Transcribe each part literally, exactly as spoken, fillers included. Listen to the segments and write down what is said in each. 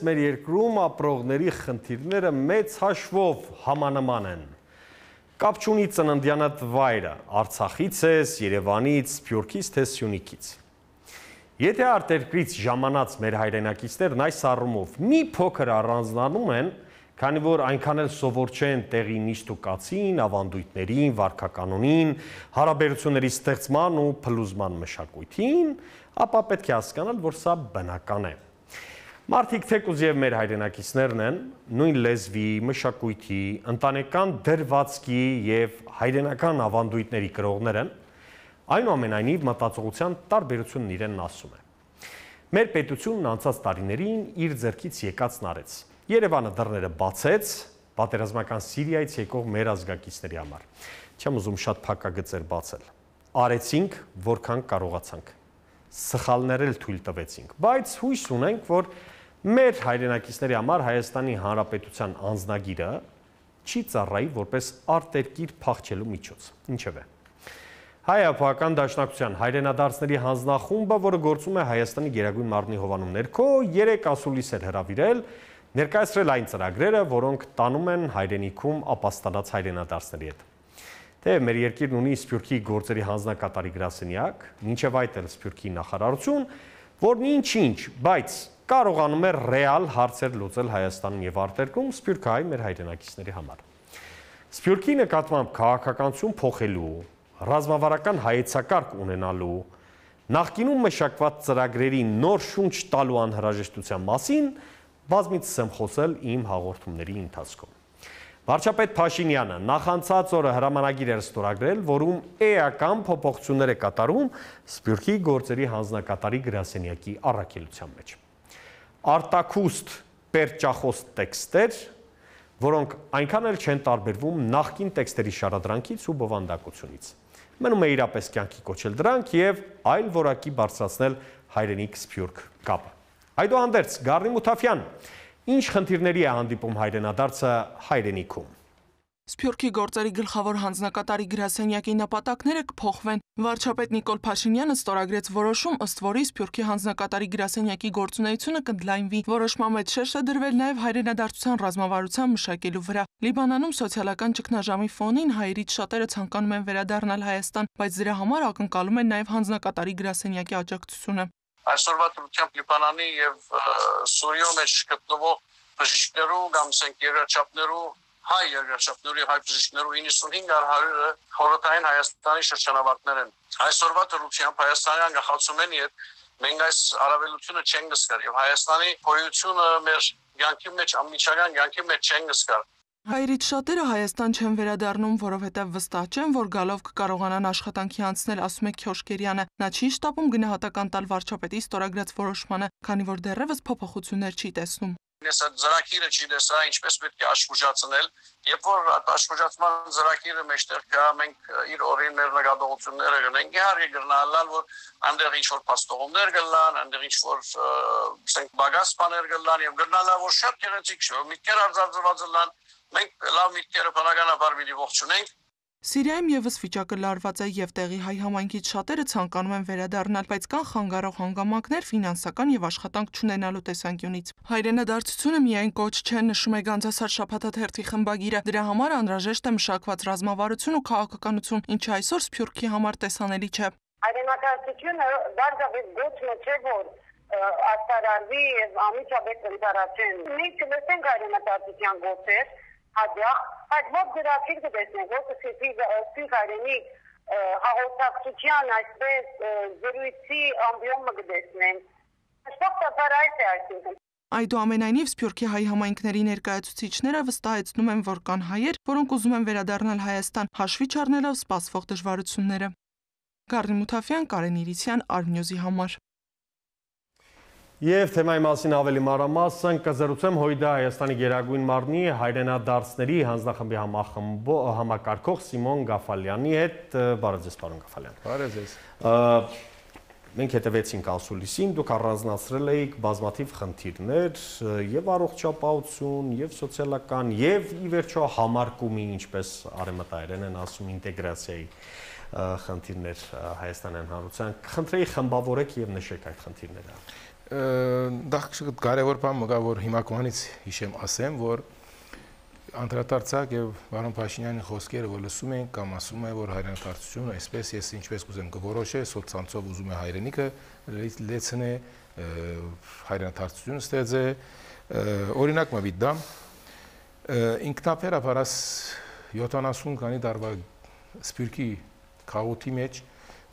մեր երկրում ապրողների խնդիրները մեծ հաշվով համանման են։ Կապ չունի ծննդյանդ վայրը, Արցախից ես, Երևանից, Սփյուռքից թե Սյունիքից։ Եթե արտերկրից ժամանած մեր հայրենակիցներն այս առումով մի փոքր առանձնանում են, քանի որ այնքան էլ սովոր չեն տեղի նիստ ու կացին, ավանդույթներին, վարքականոնին, հարաբերությունների ստեղծման ու փլուզման մշակույթին, ապա պետք է հասկանալ, որ սա բնական է։ Մարդիկ թեկուզ եւ մեր հայրենակիցներն են, նույն լեզվի, մշակույթի, ընտանեկան դրվածքի եւ հայրենական ավանդույթների կրողներ են, այնուամենայնիվ մտածողության տարբերությունն իրենն ասում է։ Մեր պետությունն անցած տարիներին իր ձեռքից եկածն արեց։ Երևանը դռները բացեց պատերազմական Սիրիայից եկող մեր ազգակիցների համար։ Չեմ ուզում շատ փակագծեր բացել։ Արեցինք, որքան կարողացանք։ Սխալներ էլ թույլ տվեցինք, բայց հույս ունենք, որ մեր հայրենակիցների համար Հայաստանի Հանրապետության անձնագիրը չի ծառայի որպես արտերկիր փախչելու միջոց։ Ինչևէ։ Հայ-Ափական Դաշնակցության հայրենադարձների հանձնախումբը, որը գործում է Հայաստանի Գերագույն մարմնի հովանու ներքո, երեք ասուլիսեր հրավիրել, ներկայացրել այն ծրագրերը, որոնք տանում են հայրենիքում ապաստանած հայրենադարձների հետ։ Թեև մեր երկիրն ունի Սփյուռքի գործերի հանձնակատարի գրասենյակ, մինչև այդ էլ Սփյուռքի նախարարություն, որն ինչ-ինչ, բայց կարողանում է ռեալ հարցեր լուծել Հայաստանում եւ արտերկրում սփյուռքահայ մեր հայրենակիցների համար։ Սփյուռքի նկատմամբ քաղաքականություն փոխելու, ռազմավարական հայեցակարգ ունենալու, նախկինում մշակված ծրագրերի նոր շունչ տալու անհրաժեշտության մասին բազմիցս եմ խոսել իմ հաղորդումների ընթացքում։ Վարչապետ Փաշինյանը նախանցած օրը հրամանագիր էր ստորագրել, որում էական փոփոխություններ է կատարում Սփյուռքի գործերի հանձնակատարի գրասենյակի առաքելության մեջ։ Արտաքուստ պերճախոս տեքստեր, որոնք այնքան էլ չեն տարբերվում նախկին տեքստերի շարադրանքից ու բովանդակությունից։ Մնում է իրապես կյանքի կոչել դրանք եւ այլ որակի բարձրացնել հայրենիք-սփյուռք կապը։ Այդուհանդերձ, Գառնի Մութաֆյան, ինչ խնդիրների է հանդիպում հայրենադարձը հայրենիքում։ Սփյուռքի գործերի գլխավոր հանձնակատարի գրասենյակի նպատակները կփոխվեն։ Վարչապետ Նիկոլ Փաշինյանը ստորագրեց որոշում, ըստ որի Սփյուռքի հանձնակատարի գրասենյակի գործունեությունը կընդլայնվի։ Որոշման մեջ շեշ է դրվել նաև հայրենադարձության ռազմավարության մշակելու վրա։ Լիբանանում սոցիալական ճգնաժամի ֆոնին հայերից շատերը ցանկանում են վերադառնալ Հայաստան, բայց դրա համար ակնկալում են նաև հանձնակատարի գրասենյակի աջակցությունը։ Այսօրվա դրությամբ Լիբանանի եւ Սուրիո մեջ գտնվող բժիշկներու կամ երկրաչափներու հայ երկրաչափների հայ բժիշկներու իննսունհինգ հարյուրը խորհրդային Հայաստանի շրջանավարտներ են։ Այսօրվա դրությամբ հայաստանյան գաղափարությունների հետ մենք այս առավելությունը չենք զգար եւ Հայաստանի գոյությունը մեր կյանքի մեջ ամիջական կյանքի մեջ չենք զգար։ Հայերից շատերը Հայաստան չեն վերադառնում, որովհետև վստահ չեն, որ գալով կկարողանան աշխատանքի անցնել, ասում է Քյոշկերյանը։ Նա չի շտապում գնահատական տալ վարչապետի ստորագրած որոշմանը, քանի որ դեռևս փոփոխություններ չի տեսնում։ Ես այդ ծրագիրը չի տեսա, ինչպես պետք է աշխուժացնել, երբ որ աշխուժացման ծրագիրը մեջտեղ կա, մենք իր օրին մեր նկատողությունները գնենք, իհարկե գրնալալ, որ այնտեղ ինչ որ փաստողումներ գլան, այնտեղ ինչ որ ասենք բագաս բաներ գլան եւ գրնալալ, որ շատ գեղեցիկ շո, միտքեր արձանագրված լան, մենք լավ միտքերը բնականաբար մի ողջունենք։ Սիրիայում եւս վիճակը լարված է եւ տեղի հայ համայնքից շատերը ցանկանում են վերադառնալ, բայց կան խանգարող հանգամանքներ ֆինանսական եւ աշխատանք չունենալու տեսանկյունից։ Հայրենադարձությունը միայն կոչ չէ, նշում է Գանձասար շաբաթաթերթի խմբագիրը։ Դրա համար անհրաժեշտ է մշակված ռազմավարություն ու քաղաքականություն, ինչը այսօր Սփյուռքի համար տեսանելի չէ։ Հայրենադարձությունը դարձավ գոչը չէ, որ արտարարվի եւ ամիջապես ընդառաջեն։ Մենք կլսենք հայրենադարձության գործեր հաջող, այդ ո՞ր դրացիր կտեսնենք, ո՞ր կսիպի հայրենի հաղորդակցության այսպես զրույցի ամբիոմը կտեսնենք։ Շփոթաբար այս է այսինքն։ Այդուամենայնիվ Սփյուռքի հայ համայնքների ներկայացուցիչները վստահեցնում են, որ կան հայեր, որոնք ուզում են վերադառնալ Հայաստան, հաշվի չառնելով սպասվող դժվարությունները։ Գառնի Մութաֆյան, Կարեն Իրիսյան, Արմնյուզի համար։ Եվ թեմայի մասին ավելի մանրամասն կզրուցեմ Հույդա Հայաստանի Գերագույն մարմնի հայրենադարձների հանձնախմբի համակարգող Սիմոն Գաֆալյանի հետ։ Բարև ձեզ, պարոն Գաֆալյան։ Բարև ձեզ։ Մենք հետևեցինք ասուլիսին, դուք առանձնացրել էիք բազմաթիվ խնդիրներ, եւ առողջապահություն, եւ սոցիալական, եւ ի վերջո համարկումի, ինչպես արևմտայերեն են ասում, ինտեգրացիայի։ խնդիրներ Հայաստանյան հանրության։ Խնդրեի խմբավորեք եւ նշեք այդ խնդիրները։ Դա կարևոր բան մգա, որ հիմա կողանից հիշեմ ասեմ, որ անդրադարձակ եւ պարոն Փաշինյանի խոսքերը որ լսում ենք կամ ասում է որ հայրենիքարությունը այսպես ես ինչպես կուզեմ կորոշե սոցցանցով ուզում է հայրենիքը լեցնե հայրենիքարությունը ստեղծե օրինակ մը դամ ինքնաբերաբար յոթանասուն քանի տարվա սպիրկի քաոթի մեջ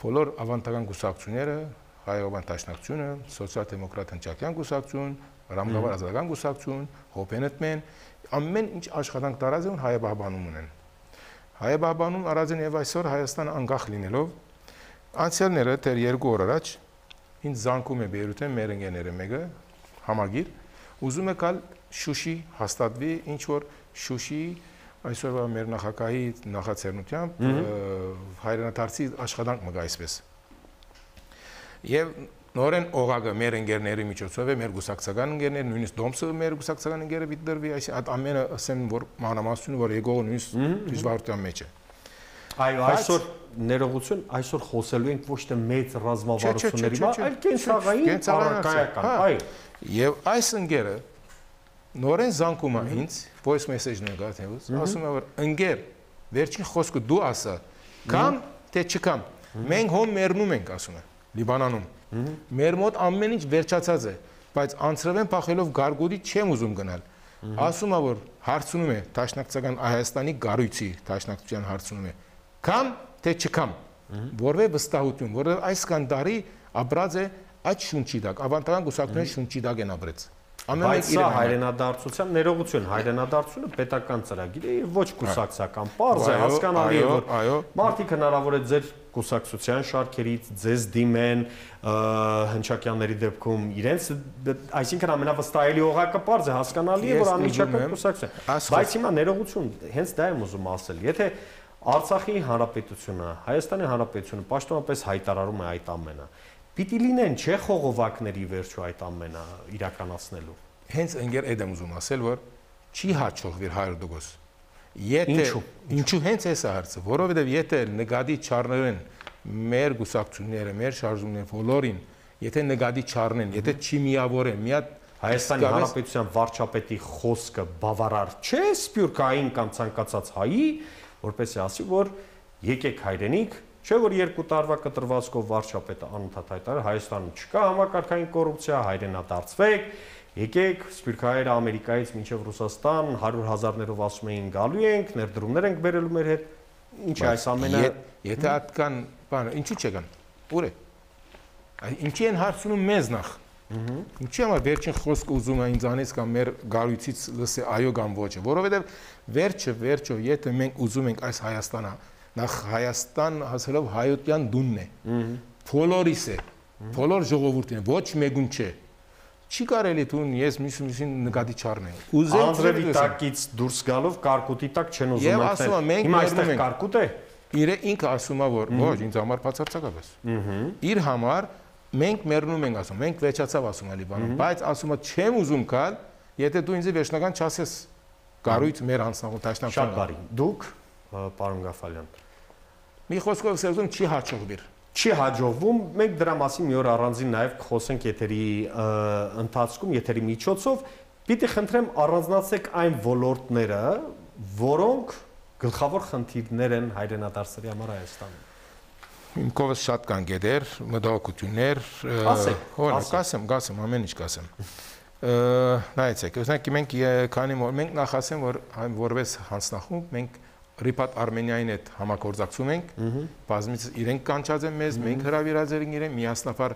բոլոր ավանդական գուսակցությունները հայոց դաշնակցությունը սոցիալ-դեմոկրատ հնչակյան գուսակցություն ռամգավար ազատական գուսակցություն հոպենետմեն ամեն ինչ աշխատանք տարած են հայաբահբանում ունեն հայաբահբանում արածեն եւ այսօր Հայաստանը անկախ լինելով անցյալները դեռ երկու օր առաջ ինձ զանգում է Բեյրութեն մեր ընկերները մեկը համագիր ուզում է կալ Շուշի հաստատվի ինչ որ Շուշի այսօրվա մեր նախագահի նախաձեռնությամբ հայրենադարձի աշխատանք մգա այսպես եւ նորեն օղակը մեր ընկերների միջոցով է մեր գուսակցական ընկերներ նույնիսկ դոմսը մեր գուսակցական ընկերը դիտդրվի այս ամենը ասեմ որ մանրամասնությունը որ եկողը նույնիսկ դժվարության մեջ է այո այսօր ներողություն այսօր խոսելու ենք ոչ թե մեծ ռազմավարությունների մասին այլ կենցաղային առարկայական այո եւ այս ընկերը նորեն զանգում է ինձ voice message-ն է գտնում ասում է որ ընկեր վերջին խոսքը դու ասա կամ թե չկամ մենք հոմ մեռնում ենք ասում է Լիբանանում Մեր մոտ ամեն ինչ վերջացած է, բայց անցրվեն փախելով գարգուդի չեմ ուզում գնալ։ Ասում է որ հարցնում է Դաշնակցական Հայաստանի գառույցի Դաշնակցության հարցնում է։ Կամ թե չկամ։ Որվե վստահություն, որովհետև այս կանդարի ապրած է այդ շունչի տակ, ավանդական գուսակցությունների շունչի տակ են ապրեց։ Բայց սա հայրենադարձության ներողություն, հայրենադարձությունը պետական ծրագիր է, ոչ կուսակցական, պարզ է, հասկանալի է, որ մարդիկ հնարավոր է ձեր կուսակցության շարքերից ձեզ դիմեն հնչակյանների դեպքում իրենց, այսինքն ամենավստահելի օղակը պարզ է, հասկանալի է, որ անմիջական կուսակցություն։ Բայց հիմա ներողություն, հենց դա եմ ուզում ասել, եթե Արցախի հանրապետությունը, Հայաստանի հանրապետությունը պաշտոնապես հայտարարում է այդ ամենը, պիտի լինեն չէ խողովակների վերջո այդ ամենը իրականացնելու։ Հենց ընկեր այդ եմ ուզում ասել, որ չի հաջողվի հարյուր տոկոս։ Եթե ինչու հենց էս է հարցը, որովհետև եթե նկատի չառնեն մեր գուսակցությունները, մեր շարժումները բոլորին, եթե նկատի չառնեն, եթե չի միավորեն, մի հատ Հայաստանի Հանրապետության վարչապետի խոսքը բավարար չէ սփյուռքային կամ ցանկացած հայի, որպեսզի ասի, որ եկեք հայրենիք, չէ որ երկու տարվա կտրվածքով վարչապետը անընդհատ հայտարարել Հայաստանում չկա համակարգային կոռուպցիա, հայրենադարձվեք, եկեք սփյուռքահայերը Ամերիկայից մինչև Ռուսաստան հարյուր հազարներով ասում էին գալու ենք, ներդրումներ ենք բերելու մեր հետ, ինչ է այս ամենը։ Եթե այդքան բան, ինչու չեկան։ Ուր է։ Ինչի են հարցնում մեզ նախ։ Ինչի համար վերջին խոսքը ուզում է ինձանից կամ մեր գարույցից լսի այո կամ ոչը, որովհետև վերջը վերջը եթե մենք ուզում ենք այս Հայաստանը նախ Հայաստան հասելով հայոտյան դունն է բոլորիս է բոլոր ժողովուրդին ոչ մեկուն չէ չի կարելի տուն ես միշտ նկատի չառնեմ ուզեմ Անձրևի տակից դուրս գալով կարկուտի տակ չեն ուզում մտնել հիմա այստեղ կարկուտ է իր ինքը ասում է որ ոչ ինձ համար բացարձակապես իր համար մենք մեռնում ենք ասում մենք վեճացավ ասում է Լիբանում բայց ասում է չեմ ուզում գալ եթե դու ինձ վերջնական չասես գարույց մեր անձնական դաշնակցություն շատ բարի դուք պարոն Գաֆալյան մի խոսքով ասեմ չի հաջողվի չի հաջողվում մենք դրա մասին մի օր առանձին նաև կխոսենք եթերի ընթացքում եթերի միջոցով պիտի խնդրեմ առանձնացեք այն ոլորտները որոնք գլխավոր խնդիրներ են հայրենադարձերի համար Հայաստանում Իմ կողմից շատ կան գետեր, մտահոգություններ, օրինակ կասեմ, կասեմ, ամեն ինչ կասեմ։ Նայեցեք, օրինակ մենք քանի մենք նախ ասեմ, որ որպես հանձնախումբ մենք Ռիպատ Արմենիային հետ համագործակցում ենք, բազմից իրենք կանչած են մեզ, մենք հրավիրած ենք իրեն, միասնաբար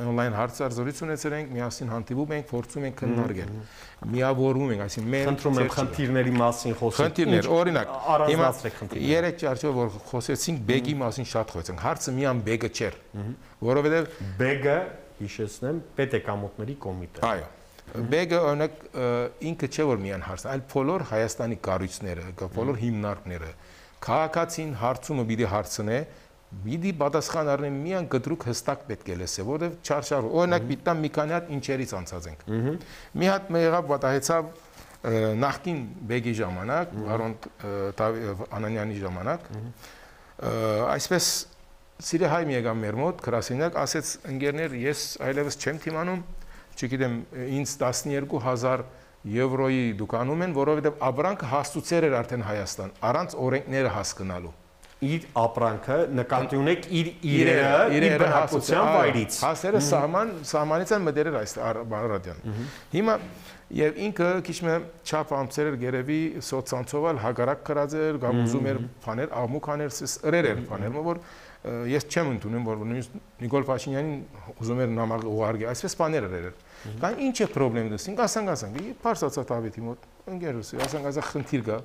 on-line հարցազրույց ունեցել ենք, միասին հանդիպում ենք, փորձում ենք քննարկել։ Միավորվում ենք, այսինքն մեր խնդրում եմ խնդիրների մասին խոսենք։ Խնդիրներ, օրինակ, առանձնացրեք խնդիրները։ Երեք ճարճով որ խոսեցինք բեգի մասին շատ խոսեցինք, հարցը միան բեգը չէր, որովհետև բեգը, հիշեցնեմ, պետեկամուտների կոմիտե։ Այո։ Բեգը օրինակ ինքը չէ որ միան հարցն, այլ բոլոր Հայաստանի կառույցները, բոլոր հիմնարկները քաղաքացին հարցումը պիտի հարցնե, պիտի պատասխան առնի միան կտրուկ հստակ պետք է լսե, որովհետև չարշավ, օրինակ պիտան մի քանի հատ ինչերից անցած ենք։ Մի հատ մի եղավ պատահեցավ նախկին բեգի ժամանակ, Վարոն Անանյանի ժամանակ, Այսպես Սիրիա հայ մի եկավ մեր մոտ, գրասենյակ, ասեց ընկերներ, ես այլևս չեմ թիմանում, չգիտեմ, ինձ տասներկու հազար եվրոյի դուկանում են, որովհետև ապրանքը հասցուցեր էր արդեն Հայաստան, առանց օրենքները հասկանալու։ Իր ապրանքը նկատի ունեք իր իրերը, իր բնակության վայրից։ Հասերը սահման, սահմանից են մտերել այս Բարարադյան։ Հիմա եւ ինքը քիչ մը չափ ամսեր էր գերեւի սոցցանցովալ հագարակ կրածեր, կամ ուզում էր բաներ, աղմուկաներ, սրեր էր բաներ, որ ես չեմ ընդունում, որ Նիկոլ Փաշինյանին ուզում էր նամակ ուղարկի, այսպես բաներ էր։ Կան ինչ է խնդրեմ դասին, ասանք ասանք, փարսացա Դավիթի մոտ, ընկերուս, ասանք ասա խնդիր կա,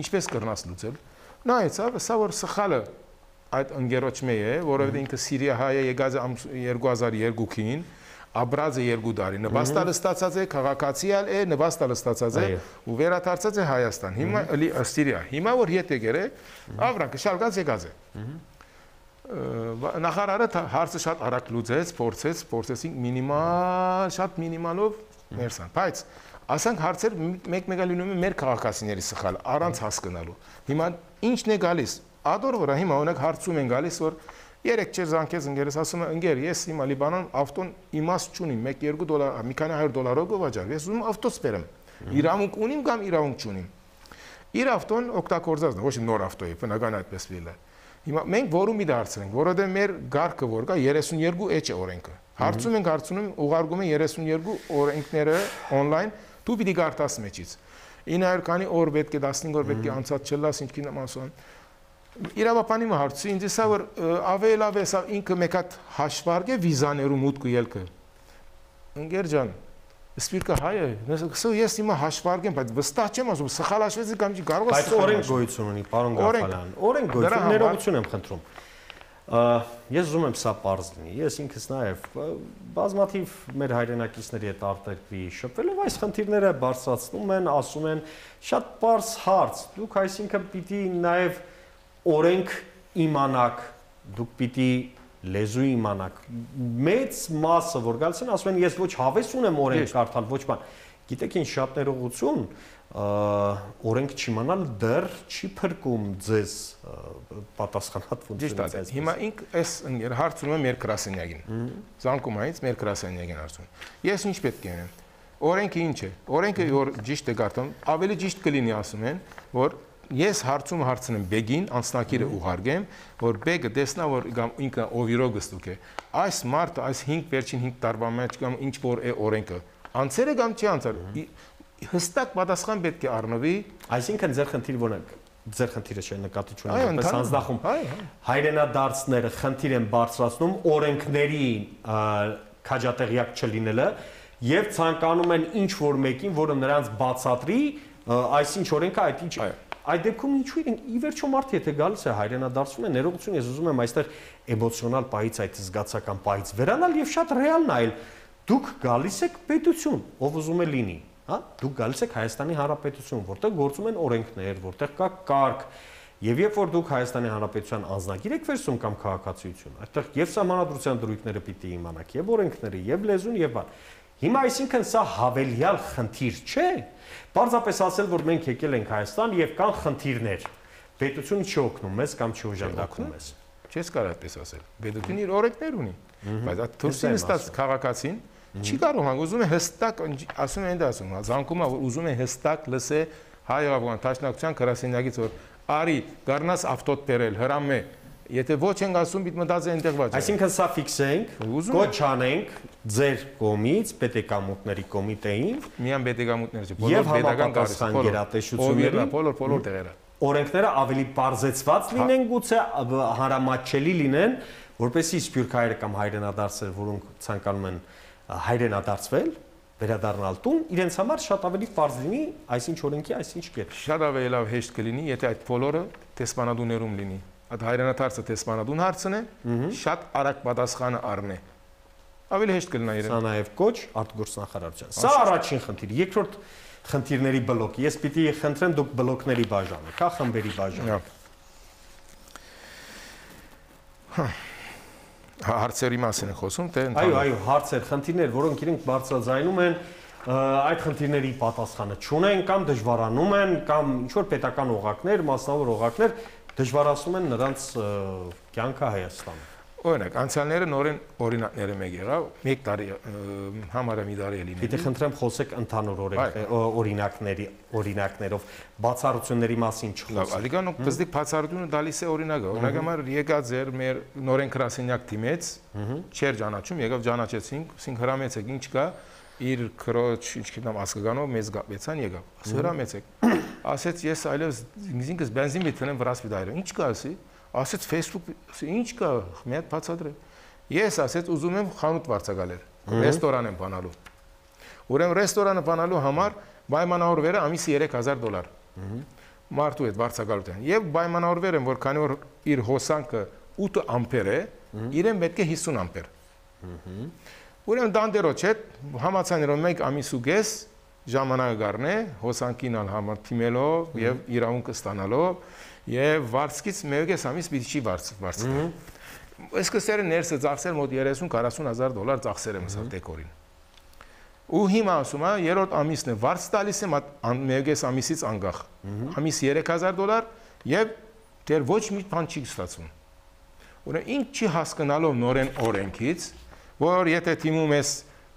ինչպես կրնաս լուծել։ Նա էցավ, սա որ սխալը այդ ընկերոջ մե է, որովհետև ինքը Սիրիա հայ է եկած երկու հազար երկու-ին, ապրած է երկու տարի, նպաստալը ստացած է, քաղաքացիալ է, նպաստալը ստացած է ու վերադարձած է Հայաստան։ Հիմա էլի Սիրիա։ Հիմա որ հետ եկեր է, ավրանքը շալկած եկած է։ Նախարարը հարցը շատ արագ լուծեց, փորձեց, փորձեցինք մինիմալ, շատ մինիմալով ներսան, բայց ասանք հարցեր մեկ-մեկը լինում է մեր քաղաքացիների սխալ, առանց հասկանալու։ Հիմա ինչն է գալիս։ Ադոր վրա հիմա օրինակ հարցում են գալիս, որ երեք չեր զանգեց ընկերս, ասում է ընկեր, ես հիմա Լիբանան ավտոն իմաստ չունիմ, մեկ-երկու դոլար, մի քանի հարյուր դոլարով գովաճառ, ես ուզում ավտոս բերեմ։ Իրավունք ունիմ կամ իրավունք չունիմ։ Իր ավտոն օգտագործած է, ոչ նոր ավտո է, բնական այդպես լինել է։ Հիմա մենք որում մի դարձրենք, որովհետև մեր գարկը որ կա երեսունյերկու էջ է օրենքը։ Հարցում ենք, հարցնում ուղարկում են երեսունյերկու օրենքները on-line, դու պիտի գարտաս մեջից։ ինը հարյուր քանի օր պետք է տասնհինգ օր պետք է անցած չլաս ինչքին եմ ասում։ Իրավապանի մը հարցի ինձ սա որ ավելի լավ է սա ինքը մեկ հատ հաշվարկ է վիզաներու մուտքը ելքը։ Ընկեր ջան, Սպիրկը հայ է, ես հիմա հաշվարկ եմ, բայց վստահ չեմ ասում, սխալ հաշվեցի կամ չի կարող է բայց օրենք գոյություն ունի, պարոն Գաֆարյան, օրենք գոյություն, ներողություն եմ խնդրում։ Ես ուզում եմ սա պարզ լինի, ես ինքս նաև բազմաթիվ մեր հայրենակիցների հետ արտերկրի շփվելով այս խնդիրները բարձրացնում են, ասում են շատ պարզ հարց, դուք այսինքն պիտի նաև օրենք իմանաք, դուք պիտի լեզու իմանաք, մեծ մասը որ գալիս են ասում են ես ոչ հավես ունեմ օրենք կարդալ, ոչ բան, գիտեք ինչ շատ ներողություն, օրենք չիմանալ դեռ չի փրկում ձեզ պատասխանատ ֆունկցիոնից։ Հիմա ինք այս հարցում եմ մեր գրասենյակին, զանգում այնց մեր գրասենյակին հարցում։ Ես ինչ պետք է անեմ։ Օրենքը ինչ է։ Օրենքը որ ճիշտ է կարդում, ավելի ճիշտ կլինի ասում են, որ ես հարցում հարցնեմ բեգին, անձնակիրը ուղարկեմ, որ բեգը տեսնա, որ ինքը օվիրով գստուկ է։ Այս մարդը, այս հինգ վերջին հինգ տարվա մեջ կամ ինչ որ է օրենքը, անցել է կամ չի անցել։ Հստակ պատասխան պետք է առնվի, այսինքն ձեր խնդիրը ո՞րն է, ձեր խնդիրը չէ նկատի չունեմ, որպես հանձնախումբ հայրենադարձները խնդիր են բարձրացնում օրենքների քաջատեղյակ չլինելը եւ ցանկանում են ինչ որ մեկին, որը նրանց բացատրի, այսինչ օրենքը այդ ինչ է։ Այդ դեպքում ինչու իրենք ի վերջո մարդը եթե գալիս է հայրենադարձում է ներողություն ես ուզում եմ այստեղ էմոցիոնալ պահից այդ զգացական պահից վերանալ եւ շատ ռեալ նայել դուք գալիս եք պետություն ով ուզում է լինի հա դուք գալիս եք Հայաստանի Հանրապետություն որտեղ գործում են օրենքներ որտեղ կա կարգ եւ երբ որ դուք Հայաստանի Հանրապետության անձնագիր եք վերցում կամ քաղաքացիություն այդտեղ եւ սահմանադրության դրույթները պիտի իմանաք եւ օրենքները եւ լեզուն եւ բան հիմա այսինքն սա հավելյալ խնդիր չէ Պարզապես ասել, որ մենք եկել ենք Հայաստան եւ կան խնդիրներ։ Պետությունը չի օգնում մեզ կամ չի օժանդակում մեզ։ Չես կարող այդպես ասել։ Պետությունը իր օրենքներ ունի, բայց այդ դուրսին ստաց քաղաքացին չի կարող հանգ ուզում է հստակ ասում են դա ասում, զանգում է որ ուզում է հստակ լսե հայ-ավղան տաշնակցության գրասենյակից որ արի գառնաս ավտոտ բերել հրամե Եթե ոչ ենք ասում, պիտի մտածեն այնտեղ վաճառ։ Այսինքն սա ֆիքսենք, կոչ անենք ձեր կողմից պետեկամուտների կոմիտեին, միայն պետեկամուտները չէ, բոլոր պետական կառույցները, գերատեսչությունների, բոլոր բոլոր տեղերը։ Օրենքները ավելի բարձեցված լինեն, գուցե հարամատչելի լինեն, որպեսզի սփյուռք հայերը կամ հայրենադարձեր, որոնք ցանկանում են հայրենադարձվել, վերադառնալ տուն, իրենց համար շատ ավելի բարձ լինի, այսինչ օրենքի, այսինչ կետ։ Շատ ավելի լավ հեշտ կլինի, եթե այդ բոլորը տեսփանադուներում լինի։ Այդ հայրենադարձը տեսփանադուն հարցն է, շատ արագ պատասխանը առնե։ Ավելի հեշտ կլինի իրեն։ Սա նաև կոչ արտգործնախարարության։ Սա առաջին խնդիր, երկրորդ խնդիրների բլոկ։ Ես պիտի խնդրեմ դուք բլոկների բաժանեք, հա, խմբերի բաժանեք։ Հարցերի մասին են խոսում, թե Այո, այո, հարցեր, խնդիրներ, որոնք իրենք բարձրաձայնում են, այդ խնդիրների պատասխանը չունեն կամ դժվարանում են կամ ինչ որ պետական օղակներ, մասնավոր օղակներ Դժվարացնում են նրանց կյանքը Հայաստանում։ Օրինակ, անցյալները նորեն օրինակները մեկ եղավ, մեկ տարի համարը մի տարի է լինել։ Եթե խնդրեմ խոսեք ընդհանուր օրինակների, օրինակներով, բացառությունների մասին չխոսեք։ Ալիգան բզդիկ բացառությունը տալիս է օրինակը։ Օրինակ համար եկած էր մեր նորեն գրասենյակ թիմեց, չեր ճանաչում, եկավ ճանաչեցինք, ասենք հրամեցեք, ինչ կա, իր քրոջ, ինչ գիտեմ, ասկականով մեզ գապեցան եկավ։ Ասա հրամեցեք։ Ասեց ես այլևս ինքս բենզին միտքնեմ վրաս վիդայրը։ Ինչ կա ասի։ Ասեց Facebook, ինչ կա, մի հատ բացատրեմ։ Ես ասեց ուզում եմ խանութ վարձակալել, ռեստորան եմ բանալու։ Ուրեմն ռեստորանը բանալու համար պայմանավորվել է ամիսը երեք հազար դոլար։ Մարդու հետ վարձակալության։ Եվ պայմանավորվել եմ, որ քանի որ իր հոսանքը ութ ամպեր է, իրեն պետք է հիսուն ամպեր։ Ուրեմն դանդերոջ հետ համացանելով մեկ ամիս ու կես ժամանակը գառնե, հոսանքին համար թիմելով եւ իրավունքը ստանալով եւ վարձկից մեկ ամիս պիտի չի վարձկա։ Սկսել է ներսը ծախսել մոտ երեսուն քառասուն հազար դոլար ծախսել եմ սա դեկորին։ Ու հիմա ասում է երրորդ ամիսն է վարձ տալիս եմ մեկ ամիսից անգախ։ Ամիս երեք հազար դոլար եւ դեռ ոչ մի բան չի ստացվում։ Ուրեմն ինչ չի հասկանալով նորեն օրենքից, որ եթե թիմում ես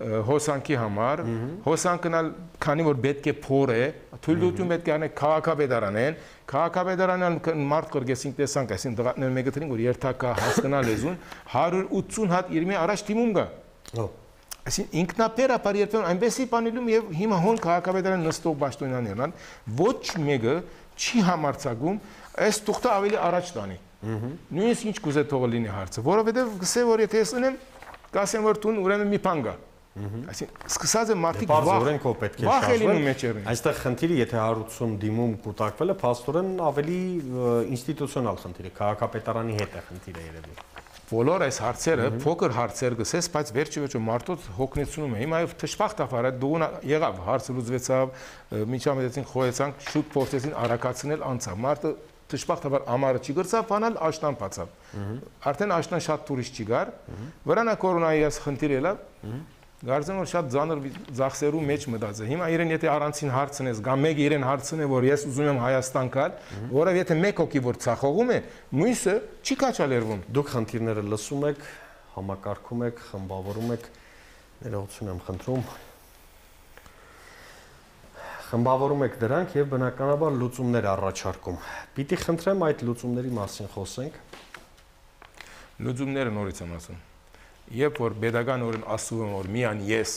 հոսանքի համար, հոսանքնալ քանի որ պետք է փոր է, թույլտվություն պետք է անեք քաղաքապետարանեն, քաղաքապետարանն մարդ կրգեսինք տեսանք, այսին դղատներ մեկը տրին, որ երթակա հասկանալ լեզուն, հարյուր ութսուն հատ իրմի առաջ թիմում գա։ Այսին ինքնապերապար երբեմն այնպեսի բանիլում եւ հիմա հոն քաղաքապետարան նստող պաշտոնյաներն են, ոչ մեկը չի համարցակում, այս թուղթը ավելի առաջ տանի։ Նույնիսկ ինչ կուզե թողը լինի հարցը, որովհետեւ գսե որ եթե ես ունեմ, կասեմ որ տուն ուրեմն մի բան գա։ Այսինքն սկսած է մարդիկ վախ պետք է շարժվեն։ Այստեղ խնդիրը եթե հարյուր ութսուն դիմում կուտակվել է, փաստորեն ավելի ինստիտուցիոնալ խնդիր է, քաղաքապետարանի հետ է խնդիրը երևի։ Բոլոր այս հարցերը փոքր հարցեր գսես, բայց վերջի վերջո մարդոց հոգնեցնում է։ Հիմա եւ թշփախտավար այդ դուգուն եղավ, հարցը լուծվեցավ, միջամտեցին, խոյեցանք, շուտ փորձեցին արակացնել անցավ։ Մարդը թշփախտավար ամառը չի գրծավ, բանալ աշտան բացավ։ Արդեն աշտան շատ տուրիստ չի գար, վրանա կորոնայի այս խնդիրը ելավ։ Գարձեմ որ շատ ծանր ծախսերու մեջ մտած է։ Հիմա իրեն եթե առանցին հարցնես, գա մեկ իրեն հարցնե, որ ես ուզում եմ Հայաստան գալ, որը եթե մեկ հոգի որ ցախողում է, մյուսը չի կաչալերվում։ Դուք խնդիրները լսում եք, համակարգում եք, խմբավորում եք, ներողություն եմ խնդրում։ Խմբավորում եք դրանք եւ բնականաբար լուծումներ առաջարկում։ Պիտի խնդրեմ այդ լուծումների մասին խոսենք։ Լուծումները նորից եմ ասում։ Երբ որ pedagogan օրեն ասում եմ որ միան ես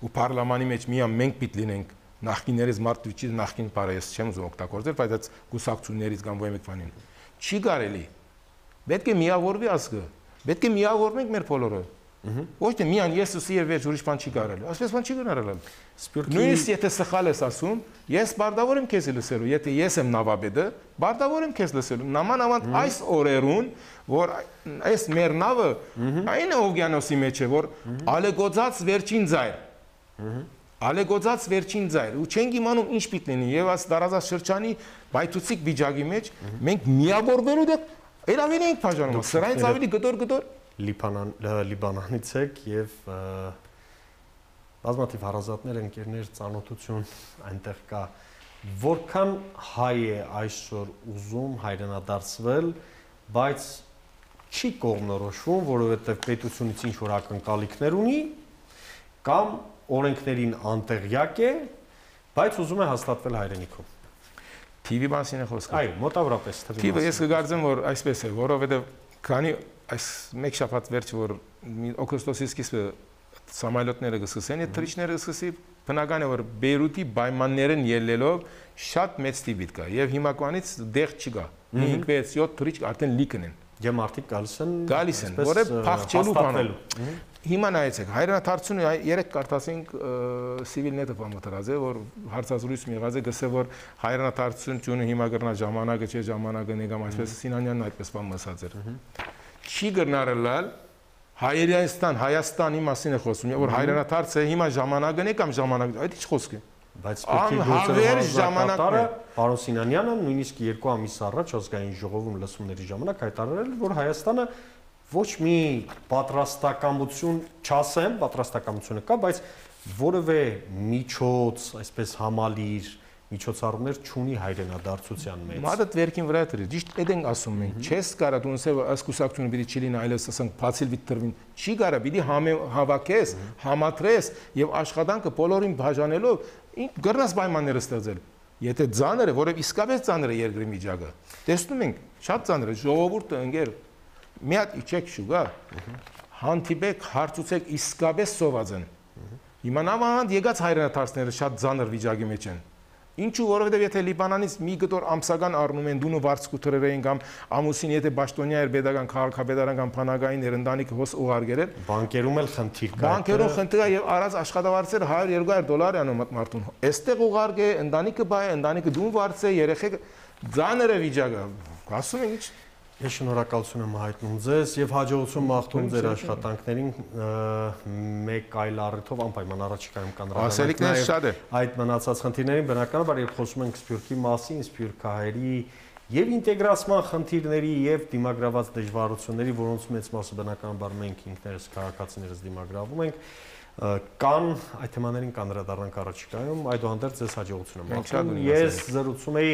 ու պարլամանի մեջ միան մենք պիտի լինենք նախկիններից մարդուճի նախկին բարը ես չեմ ուզում օգտագործել, բայց այդ գուսակցություններից կամ ոյ մեկ բանին չի կարելի։ Պետք է միավորվի ազգը, պետք է միավորվենք մեր բոլորը։ Ոչ թե միան ես ու սիրվ վերջ ուրիշ բան չի կարելի։ Այսպես բան չի գնարել։ Նույնիսկ եթե սխալ ես ասում, ես բարդավոր եմ քեզ լսելու, եթե ես եմ նավաբեդը, բարդավոր եմ քեզ լսելու։ Նամանավանդ այս օրերուն, որ այս մեր նավը այն օվկիանոսի մեջ է, որ ալեգոծած վերջին ձայր։ Ալեգոծած վերջին ձայր։ Ու չենք իմանում ինչ պիտի լինի, եւ այս տարածաշրջանի բայթուցիկ վիճակի մեջ մենք միավորվելու դեպ երավին ենք բաժանում։ Սրանից ավելի գտոր-գտոր Լիբանանից եք եւ բազմաթիվ հարազատներ, ընկերներ, ծանոթություն այնտեղ կա։ Որքան հայ է այսօր ուզում հայրենադարձվել, բայց չի կողմնորոշվում, որովհետեւ պետությունից ինչ որ ակնկալիքներ ունի կամ օրենքներին անտեղյակ է, բայց ուզում է հաստատվել հայրենիքում։ Թիվի մասին է խոսքը։ Այո, մոտավորապես թվի։ Թիվը ես կգարձեմ, որ այսպես է, որովհետեւ քանի այս մեկ շաբաթ վերջ որ օգոստոսի սկիզբը սամալյոտները գսկսեն, այդ թռիչները գսկսի, բնական է որ Բեյրութի պայմաններն ելնելով շատ մեծ տիպիտ կա եւ հիմակվանից դեղ չկա։ հինգ վեց յոթ թռիչ արդեն լիքն են։ Եվ մարդիկ գալիս են, գալիս են, որը փախչելու բան։ Հիմա նայեցեք, հայրենադարձությունը երեք կարդացինք Civilnet-ը բամտրած է, որ հարցազրույց մի եղած է, գսե որ հայրենադարձությունը հիմա գրնա ժամանակը չէ, ժամանակը նեգամ այսպես Սինանյանն այդպես բան ասած էր։ Չի գրնարելալ Հայաստան, Հայաստանի մասին է խոսում, որ հայրենադարձը հիմա ժամանակն է կամ ժամանակը, այդ ինչ խոսք է։ Բայց ժամանակը պարոն Սինանյանը նույնիսկ երկու ամիս առաջ ազգային ժողովում լսումների ժամանակ հայտարարել, որ Հայաստանը ոչ մի պատրաստակամություն, չասեմ, պատրաստակամությունը կա, բայց որևէ միջոց, այսպես համալիր միջոցառումներ չունի հայրենադարձության մեջ։ Մադը վերքին վրա դրի, ճիշտ այդ ենք ասում ենք, չես կարա դու ասես այս կուսակցությունը պիտի չլինի, այլևս ասենք բացիլ պիտի տրվին, չի կարա, պիտի հավաքես, համատրես եւ աշխատանքը բոլորին բաժանելով գրնաս պայմանները ստեղծել։ Եթե ծանր է, որև իսկապես ծանր է երկրի միջակը, տեսնում ենք, շատ ծանր է, ժողովուրդը ընկեր մի հատ իջեք շուգա, հանդիպեք, հարցուցեք իսկապես սոված են։ Հիմա նավանդ եկած հայրենադարձները շատ ծանր վիճակի մեջ են։ Ինչու, որովհետև եթե Լիբանանից մի գտոր ամսական առնում են դունու վարձկու թրերային կամ ամուսին եթե պաշտոնյա էր pedagogan քաղաքապետարան կամ բանակային էր ընտանիքը հոս ուղարկել էր, բանկերում էլ խնդիր կա։ Բանկերում խնդիր կա եւ առած աշխատավարձերը հարյուր երկու դոլար են մարդուն։ Այստեղ ուղարկե, ընտանիքը բայ, ընտանիքը դուն վարձ է, երեխեք ծանր է վիճակը։ Ասում են ինչ Ես շնորհակալություն եմ հայտնում ձեզ եւ հաջողություն մաղթում ձեր աշխատանքներին մեկ այլ առիթով անպայման առաջիկայում Ասելիքներ շատ է։ Այդ մնացած խնդիրներին բնականաբար երբ խոսում ենք Սփյուռքի մասին, սփյուռքահայերի եւ ինտեգրացման խնդիրների եւ դիմագրաված դժվարությունների, որոնց մեծ մասը բնականաբար մենք ինքներս քաղաքացիներս դիմագրավում ենք, կան այդ թեմաներին կանդրադառնանք առաջիկայում, այդուհանդերձ ձեզ հաջողություն եմ մաղթում։ Ես զրուցում էի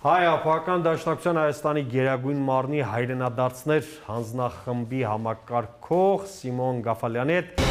Հայ ապահովական դաշնակցության Հայաստանի Գերագույն մարմնի հայրենադարձներ հանձնախմբի համակարգող Սիմոն Գաֆալյանի հետ